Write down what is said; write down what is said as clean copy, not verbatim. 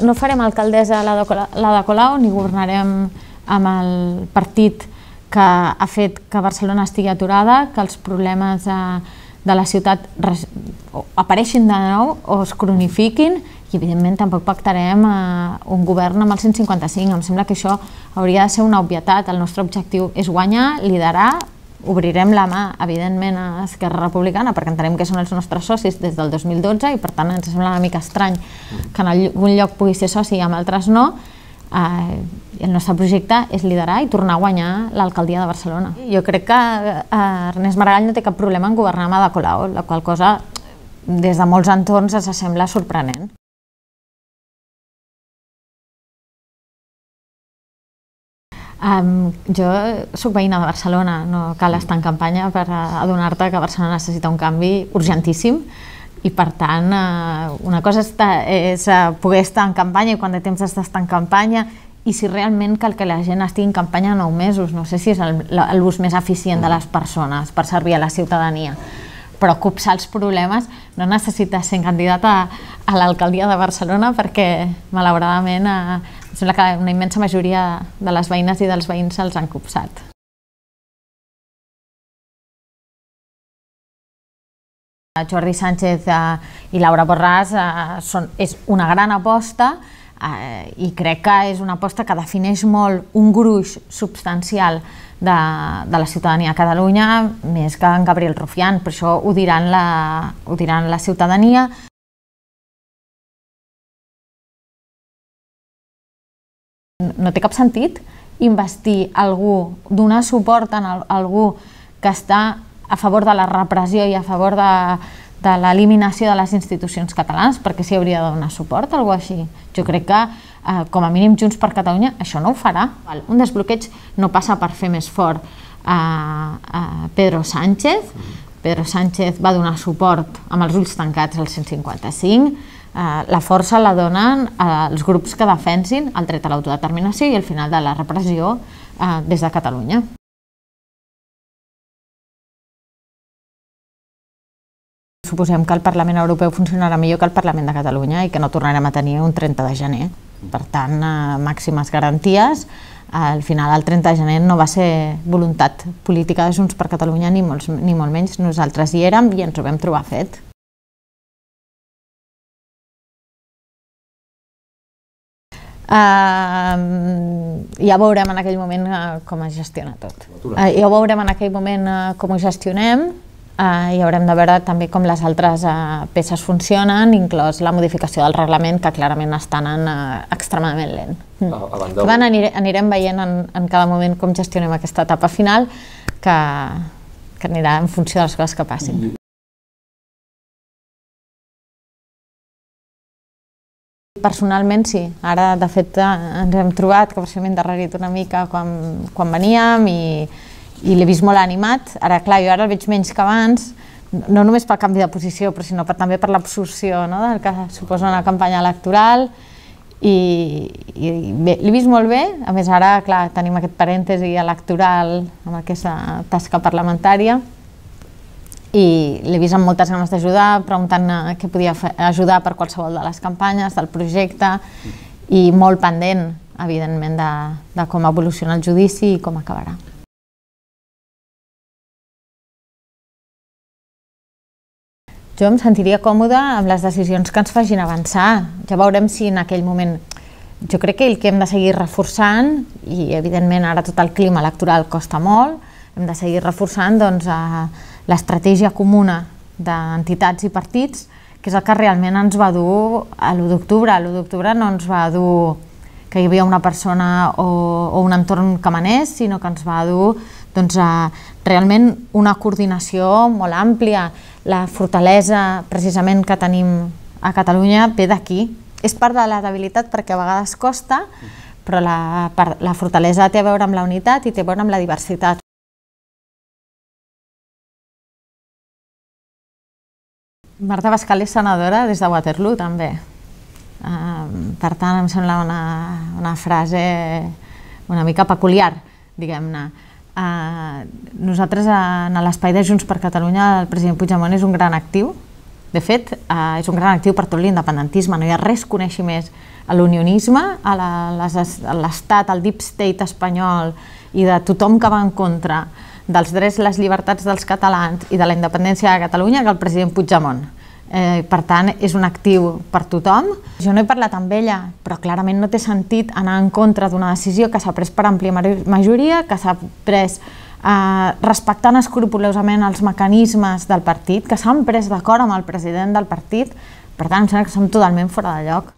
No farem alcaldessa a l'Ada Colau ni governarem amb el partit que ha fet que Barcelona estigui aturada, que els problemes de la ciutat apareixin de nou o es cronifiquin, i evidentment tampoc pactarem un govern amb el 155. Em sembla que això hauria de ser una obvietat. El nostre objectiu és guanyar, liderar, obrirem la mà, evidentment, a Esquerra Republicana perquè entenem que són els nostres socis des del 2012 i per tant ens sembla una mica estrany que en algun lloc pugui ser soci i en altres no. El nostre projecte és liderar i tornar a guanyar l'alcaldia de Barcelona. Jo crec que Ernest Maragall no té cap problema en governar amb Ada Colau, la qual cosa des de molts entorns ens sembla sorprenent. Jo soc veïna de Barcelona, no cal estar en campanya per adonar-te que Barcelona necessita un canvi urgentíssim i per tant una cosa és poder estar en campanya i quan té temps d'estar en campanya i si realment cal que la gent estigui en campanya 9 mesos, no sé si és l'ús més eficient de les persones per servir a la ciutadania, però copsar els problemes no necessites ser candidat a l'alcaldia de Barcelona perquè malauradament em sembla que una immensa majoria de les veïnes i dels veïns se'ls han copsat. Jordi Sánchez i Laura Borràs és una gran aposta i crec que és una aposta que defineix molt un gruix substancial de la ciutadania a Catalunya més que en Gabriel Rufián, per això ho diran la ciutadania. No té cap sentit investir algú, donar suport a algú que està a favor de la repressió i a favor de l'eliminació de les institucions catalanes, perquè s'hi hauria de donar suport a algú així. Jo crec que, com a mínim, Junts per Catalunya això no ho farà. Un desbloqueig no passa per fer més fort a Pedro Sánchez. Pedro Sánchez va donar suport amb els ulls tancats al 155. La força la donen els grups que defensin el dret a l'autodeterminació i el final de la repressió des de Catalunya. Suposem que el Parlament Europeu funcionarà millor que el Parlament de Catalunya i que no tornarem a tenir un 30 de gener. Per tant, màximes garanties. Al final, el 30 de gener no va ser voluntat política de Junts per Catalunya, ni molt menys. Nosaltres hi érem i ens ho vam trobar fet. Ja veurem en aquell moment com es gestiona tot. Ja veurem en aquell moment com ho gestionem i haurem de veure també com les altres peces funcionen, inclòs la modificació del reglament, que clarament està anant extremadament lent. Anirem veient en cada moment com gestionem aquesta etapa final, que anirà en funció de les coses que passin. Personalment sí, ara de fet ens hem trobat que m'he endarrerit una mica quan veníem i l'he vist molt animat. Ara clar, jo ara el veig menys que abans, no només pel canvi de posició, però sinó també per l'absorció del que suposa una campanya electoral i l'he vist molt bé. A més ara clar, tenim aquest parèntesi electoral amb aquesta tasca parlamentària i l'he vist amb moltes ganes d'ajudar, preguntant què podia ajudar per qualsevol de les campanyes, del projecte, i molt pendent, evidentment, de com evoluciona el judici i com acabarà. Jo em sentiria còmoda amb les decisions que ens facin avançar. Ja veurem si en aquell moment... Jo crec que el que hem de seguir reforçant, i evidentment ara tot el clima electoral costa molt, hem de seguir reforçant l'estratègia comuna d'entitats i partits, que és el que realment ens va dur a l'1 d'octubre. A l'1 d'octubre no ens va dur que hi havia una persona o un entorn que manés, sinó que ens va dur realment una coordinació molt àmplia. La fortalesa precisament que tenim a Catalunya ve d'aquí. És part de la debilitat perquè a vegades costa, però la fortalesa té a veure amb la unitat i té a veure amb la diversitat. Marta Bascal és senadora des de Waterloo, també. Per tant, em sembla una frase una mica peculiar, diguem-ne. Nosaltres, en l'espai de Junts per Catalunya, el president Puigdemont és un gran actiu De fet, és un gran actiu per tot l'independentisme, no hi ha res que coneixi més a l'unionisme, a l'estat, al deep state espanyol i de tothom que va en contra dels drets i les llibertats dels catalans i de la independència de Catalunya que el president Puigdemont. Per tant, és un actiu per tothom. Jo no he parlat amb ella, però clarament no té sentit anar en contra d'una decisió que s'ha pres per àmplia majoria, que s'ha pres respectant escrupolosament els mecanismes del partit, que s'han pres d'acord amb el president del partit. Per tant, em sembla que som totalment fora de lloc.